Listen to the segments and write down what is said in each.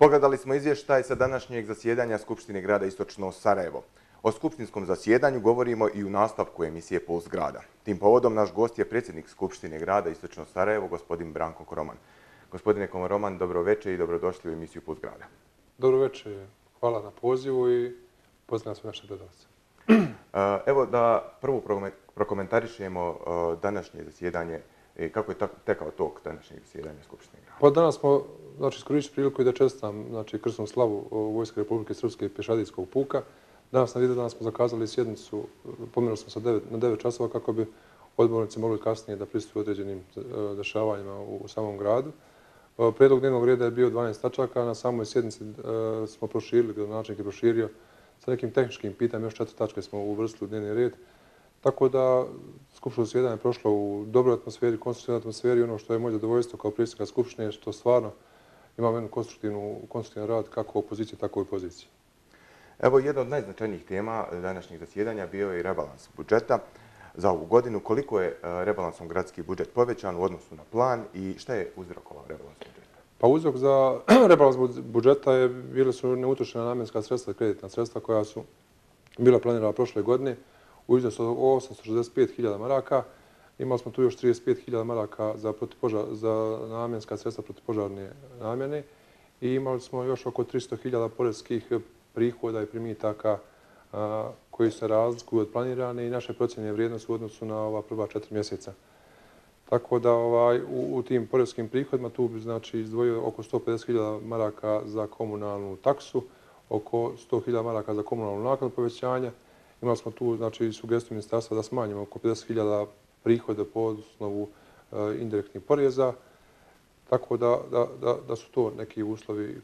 Pogledali smo izvještaj sa današnjeg zasjedanja Skupštine grada Istočno Sarajevo. O skupštinskom zasjedanju govorimo i u nastavku emisije Puls grada. Tim povodom naš gost je predsjednik Skupštine grada Istočno Sarajevo, gospodin Branko Koroman. Gospodine Koroman, dobro večer i dobrodošli u emisiju Puls grada. Dobro večer, hvala na pozivu i pozdravljam sve naše gledalce. Evo da prvo prokomentarišemo današnje zasjedanje. Kako je tekao tok današnjeg zasjedanja Skupštine grada? Pa danas smo iskoristili priliku i da čestitam krsnu slavu Vojske Republike Srpske pješadijskog puka. Danas na Vidovdan smo zakazali sjednicu, pomerili smo se na 9 časova kako bi odbornici mogli kasnije da prisustvuju određenim dešavanjima u samom gradu. Prijedlog dnevnog reda je bio 12 tačaka, na samoj sjednici smo proširili, gradonačelnik je proširio sa nekim tehničkim pitanjima, još 4 tačke smo uvrstili u dnevni red. Tako da skupštino zasjedanje je prošlo u dobroj atmosferi, konstruktivnoj atmosferi. Ono što je moje zadovoljstvo kao predsjednika Skupštine je što stvarno imamo jednu konstruktivan rad kako opozicije, tako i pozicije. Evo, jedna od najznačajnijih tema današnjeg zasjedanja bio je i rebalans budžeta za ovu godinu. Koliko je rebalansom gradski budžet povećan u odnosu na plan i šta je uzrokovao rebalans budžeta? Pa uzrok za rebalans budžeta bile su neutrošena namjenska sredstva, kreditna sredstva koja su bila planirana prošle godine u iznosu od 865.000 maraka. Imali smo tu još 35.000 maraka za namjenska sredstva protivpožarne namjene i imali smo još oko 300.000 poreskih prihoda i primitaka koji se razlikuju od planirane i naše procjene vrijednosti u odnosu na ova prva 4 mjeseca. Tako da u tim poreskim prihodima tu bi izdvojio oko 150.000 maraka za komunalnu taksu, oko 100.000 maraka za komunalnu naknadu povećanja. Imali smo tu sugestiju ministarstva da smanjimo oko 50.000 prihoda po osnovu indirektnih poreza. Tako da su to neki uslovi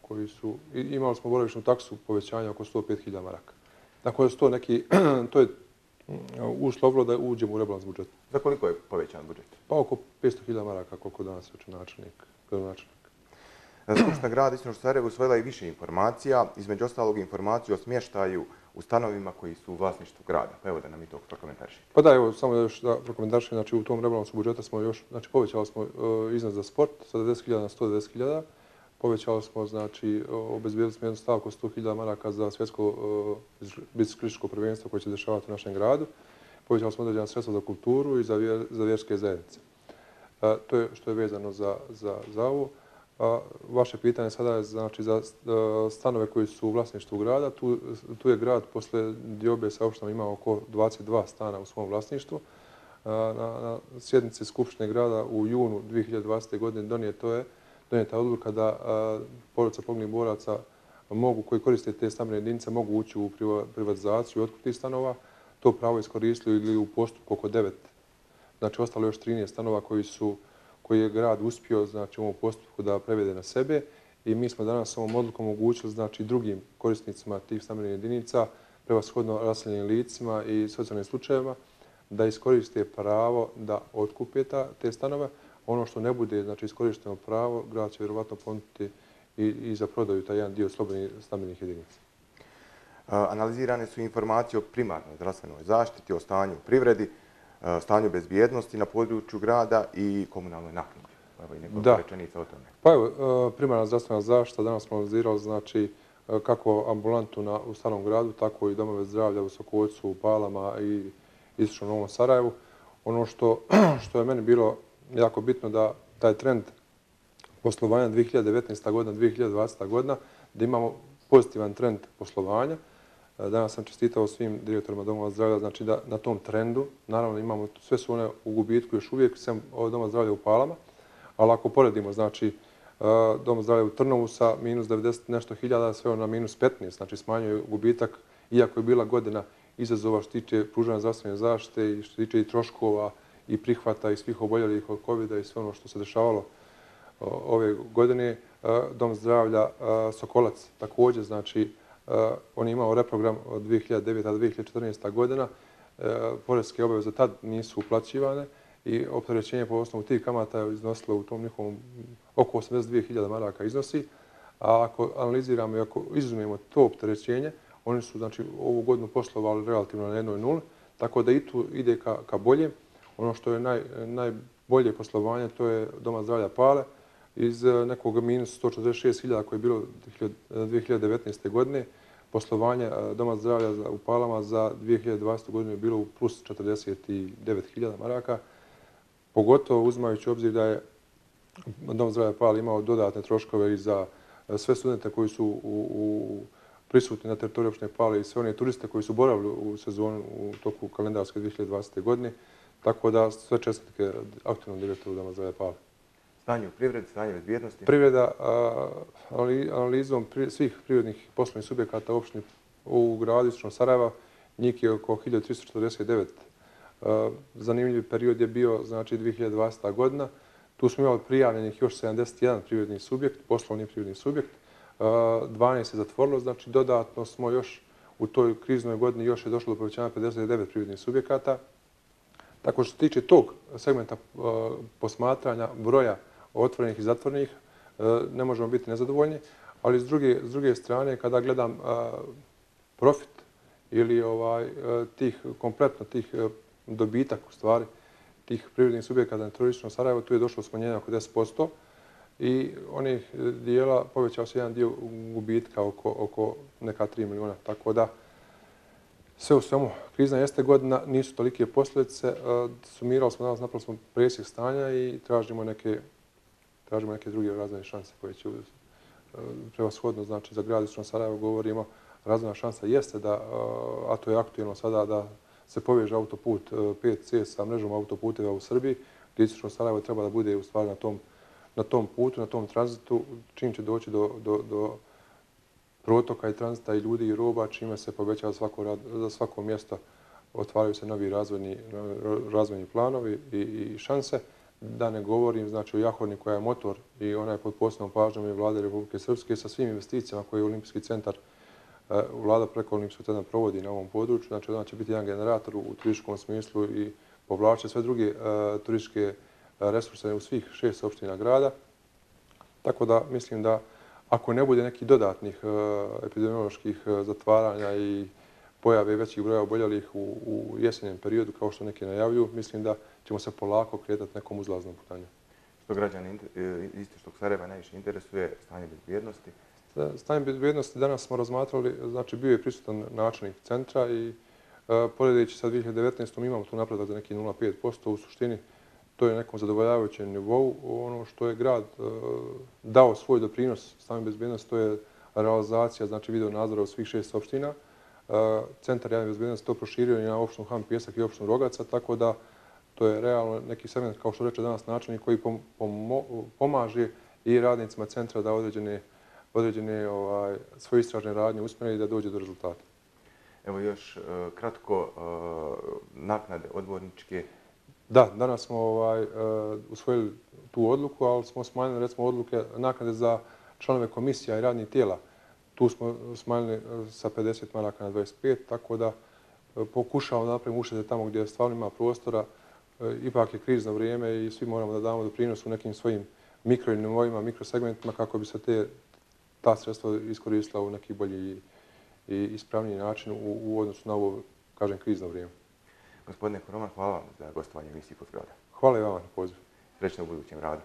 koji su imali smo boravišnu taksu povećanja oko 105.000 maraka. Tako da su to je uslovilo da uđemo u rebalans budžeta. Za koliko je povećan budžet? Pa oko 500.000 maraka, koliko danas reče gradonačelnik. Skupština grada Istočno Sarajevo usvojila i više informacija, između ostalog informaciju o smještaju u stanovima koji su u vlasništvu grada. Pa evo da nam i to prokomentarišite. Pa da, evo samo još da prokomentarišem, u tom rebalansu budžeta smo još, povećali smo iznos za sport sa 90.000 na 190.000. Povećali smo, obezbijedili smo jednu stavku 100.000 maraka za svjetsko biciklističko prvenstvo koje će dešavati u našem gradu. Povećali smo određena sredstva za kulturu i za vjerske zajednice. To je što je vezano za ovo. Vaše pitanje sada je za stanove koji su u vlasništvu grada. Tu je grad posle diobe sa opštinom imao oko 22 stana u svom vlasništvu. Na sjednici Skupštine grada u junu 2020. godine donijeta odluka da porodica poginulih boraca koji koriste te stambene jedinice mogu ući u privatizaciju i otkup tih stanova. To pravo iskoristili ili u postupku oko 9. Ostalo još 13 stanova koji je grad uspio u ovom postupku da prevede na sebe i mi smo danas ovom odlukom omogućili drugim korisnicima tih stambenih jedinica, prevashodno raseljenim licima i socijalnim slučajevima, da iskoriste pravo da otkupe te stanove. Ono što ne bude iskorišteno pravo, grad će vjerovatno ponuditi i za prodaju taj jedan dio slobodnih stambenih jedinica. Analizirane su informacije o primarnoj zdravstvenoj zaštiti, o stanju u privredi, stanju bezbjednosti na području grada i komunalnoj naknadi. Evo i nekoliko rečenica o tome. Pa evo, primarna zdravstvena zaštita, danas smo analizirali kako ambulantu u starom gradu, tako i domove zdravlja u Sokovoljcu, u Palama i Istočnom Novom Sarajevu. Ono što je meni bilo jako bitno da taj trend poslovanja 2019. godina, 2020. godina, da imamo pozitivan trend poslovanja. Danas sam čestitao svim direktorima domova zdravlja, da na tom trendu, naravno imamo, sve su one u gubitku još uvijek, sem doma zdravlja u Palama, ali ako poredimo, dom zdravlja u Trnovu sa minus 90 nešto hiljada, sve na minus 15, smanjuje gubitak, iako je bila godina izazova što tiče pružanja zdravstvene zaštite i što tiče i troškova i prihvata i svih oboljelih od COVID-a i sve ono što se dešavalo ove godine. Dom zdravlja Sokolac također, on je imao reprogram od 2009. do 2014. godina. Poreske obaveze tad nisu uplaćivane i opterećenje po osnovu tih kamata je iznosilo u tom njihovom oko 82.000 maraka iznosi. A ako analiziramo i ako izuzmemo to opterećenje, oni su ovu godinu poslovali relativno na 1,0, tako da i tu ide ka bolje. Ono što je najbolje poslovanje, to je Doma zdravlja Pale iz nekog minus 146.000 koje je bilo 2019. godine. Poslovanje Doma zdravlja u Palama za 2020. godinu je bilo u plus 49.000 maraka, pogotovo uzimajući u obzir da je Dom zdravlja Pala imao dodatne troškove i za sve studente koji su prisutni na teritoriju opštine Pale i sve one turiste koji su boravili u sezonu u toku kalendarske 2020. godine. Tako da sve čestitke aktivnom direktoru Doma zdravlja Pale. Stanje u privredi, stanje bezbjednosti? Privreda, analizom svih privrednih poslovnih subjekata u gradu istočnog Sarajeva, njih je oko 1349. Zanimljiv period je bio, znači, 2020. godina. Tu smo imali prijavljenih još 71 privredni subjekt, poslovni privredni subjekt. 12 je zatvorilo, znači dodatno smo još u toj kriznoj godini još je došlo do povećanja 59 privrednih subjekata. Tako što se tiče tog segmenta posmatranja broja otvorenih i zatvorenih, ne možemo biti nezadovoljni, ali s druge strane, kada gledam profit ili kompletno tih dobitak, u stvari, tih privrednih subjekata na teritoriju Sarajeva, tu je došlo smanjenje oko 10% i onih dijela povećao se jedan dio gubitka oko neka 3 miliona. Tako da, sve u svemu, krizna jeste godina, nisu tolike posljedice. Sumirali smo danas, napravili smo presjek stanja i tražimo neke druge razvojne šanse koje će prevashodno, znači za grad istočnog Sarajeva govorimo, razvojna šansa jeste da, a to je aktuelno sada, da se poveže autoput 5C sa mrežom autoputeva u Srbiji, gdje istočno Sarajevo treba da bude u stvari na tom putu, na tom tranzitu, čim će doći do protoka i tranzita i ljudi i roba, čime se povećava za svako mjesto, otvaraju se novi razvojni planovi i šanse. Da ne govorim, znači, o Jahorni koja je motor i ona je pod posebnom pažnjom i Vlade Republike Srpske sa svim investicijama koje je Olimpijski centar, Vlada preko Olimpijskog centra provodi na ovom području. Znači, ona će biti jedan generator u turističkom smislu i povlače sve druge turističke resurse u svih 6 opština grada. Tako da mislim da ako ne bude nekih dodatnih epidemioloških zatvaranja i pojave većih broja oboljelih u jesenjem periodu, kao što neki najavljuju, mislim da ćemo se polako kretati nekom uzlaznom putanju. Što građani istočnog Sarajeva najviše interesuje, stanje bezbjednosti? Stanje bezbjednosti danas smo razmatrali, znači bio je prisutan načelnik centra i poredeći sa 2019. imamo tu napredak za neki 0,5%. U suštini to je nekom zadovoljavajućem nivou. Ono što je grad dao svoj doprinos stanje bezbjednosti, to je realizacija, znači video nadzora u svih 6 opština. Centar javne bezbjednosti to proširio i na opštinu Han Pijesak i opštinu Rogaca, tako da to je realno neki segment, kao što reče danas načelnik, koji pomaže i radnicima centra da određene svoje istražne radnje usmjere i da dođe do rezultata. Evo još kratko, naknade odborničke. Da, danas smo usvojili tu odluku, ali smo smanjili recimo naknade za članove komisija i radnih tijela. Tu smo smanjili sa 50 maraka na 25, tako da pokušavamo da napravimo uštede tamo gdje stvarno ima prostora. Ipak je krizno vrijeme i svi moramo da damo doprinos u nekim svojim mikronivoima, mikrosegmentima kako bi se ta sredstva iskoristila u neki bolji i ispravniji način u odnosu na ovo, kažem, krizno vrijeme. Gospodine Koroman, hvala vam za gostovanje emisiji Pod zgrada. Hvala i vama na pozivu. Srećno u budućem radu.